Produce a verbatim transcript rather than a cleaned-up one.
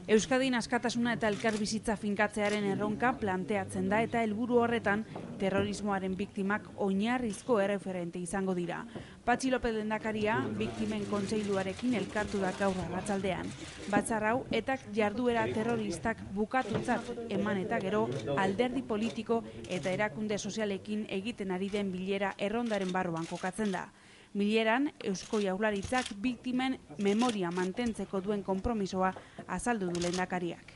Euskadin askatasuna eta elkarbizitza finkatzearen erronka planteatzen da eta helburu horretan terrorismoaren biktimak oinarrizko erreferente izango dira. Patxi López lehendakaria biktimen kontseiluarekin elkartu da gaur arratsaldean. Batzar hau etak jarduera terroristak bukatutzat eman eta gero alderdi politiko eta erakunde sozialekin egiten ari den bilera errondaren barruan kokatzen da. Bileran, Eusko Jaurlaritzak biktimen memoria mantentzeko duen konpromisoa azaldu du lehendakariak.